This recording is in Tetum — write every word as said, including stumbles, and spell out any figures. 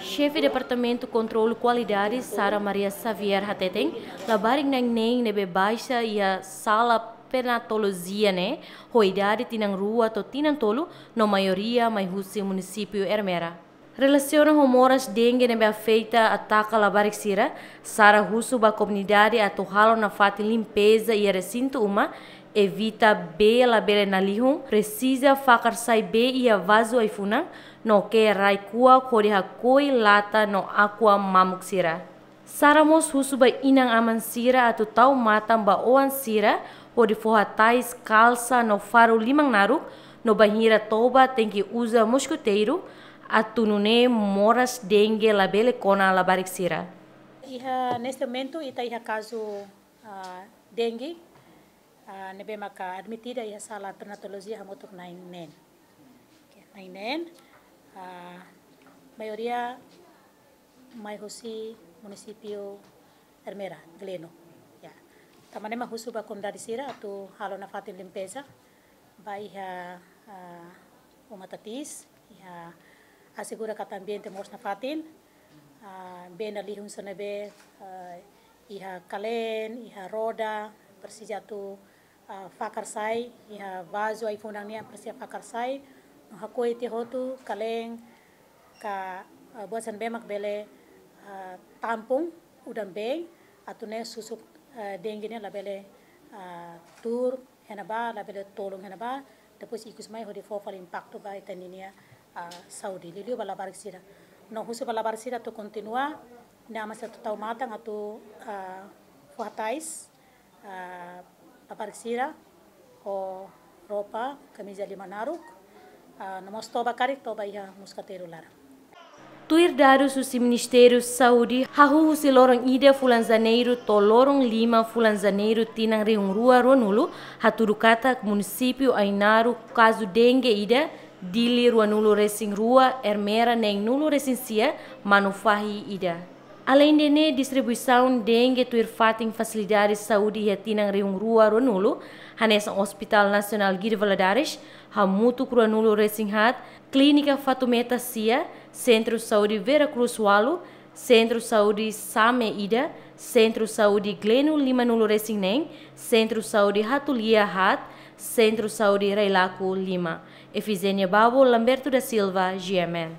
Xefe Departamentu Kontrolu Kualidade, Sara Maria Xavier, hateten labarik na'in-neen ne'ebé baixa iha sala pernatolojia ne'e ho idade tinan rua to'o tinan tolu, no maioria mai husi munisípiu Ermera. Relasiona ho moras dengue ne'ebé afeta ataka labarik sira, Sara husu ba komunidade atu halo nafatin limpeza iha resintu uma, evita bee labele nalihun, presiza fakar sai bee iha vazu ai-funan, no ke'e rai-kuak hodi hakoi lata no aqua mamuk sira. Sara mós husu ba inan-aman sira atu tau matan ba oan sira hodi fó hatais, kalsa no faru liman naruk, no bainhira toba tenke uza moskiteiru, atu nune'e moras dengue labele kona labarik sira. Iha neste momentu ita iha kazu, ah, dengue, ah, ne'ebé maka admitida iha sala pernatolojia hamutuk na'in-neen. Oke, na'in-neen, ah, maioria mai husi munisípiu Ermera, Gleno. Ya. Tanba ne'e mak husu ba komunidade sira atu halo nafatin limpeza ba iha, ah, uma tatis, iha asegura katak ambiente moos nafatin, ah, bee nalihun sira ne'ebé, ah, iha kaleen, iha roda, presiza atu, ah, fakar sai, iha vazu ai-funan nian presiza fakar sai, no hakoi tiha hotu kaleen ka, ah, buat sira ne'ebé mak bele, ah, tampung udan-been, atu nune'e susuk, ah, dengue ne'e labele, ah, tuur iha ne'ebá, labele tolun iha ne'ebá, depois ikus mai hodi fó fali impaktu ba ita-nia, ah, saúde. Liuliu ba labarik sira. No husu ba labarik sira atu kontinua, inan-aman sira atu tau matan atu, ah, fó hatais, ah, labarik sira ho roupa, kamiza liman naruk, ah, no mós toba karik, toba iha moskiteiru laran. Tuir dadus husi Ministériu Saúde, hahú husi loron ida fulan Janeiru to'o loron lima fulan Janeiru tinan rihun rua ruanulu, hatudu katak munisípiu Ainaro kazu dengue ida, Dili ruanulu resin rua, Ermera neenulu resin sia, Manufahi ida. Aleinde ne'e, distribuisaun dengue tuir fatin fasilidade saúde iha tinan rihun rua ruanulu, hanesan Hospital Nasionál Guido Valadares, hamutuk ruanulu resin haat, Klínika Fatumeta sia, Sentru Saúde Vera Cruz ualu, Sentru Saúde Same ida, Sentru Saúde Gleno limanulu resin neen, Sentru Saúde Hatulia haat, Sentru Saúde Railaco lima. Efizénia Babo, Lamberto da Silva, G M N.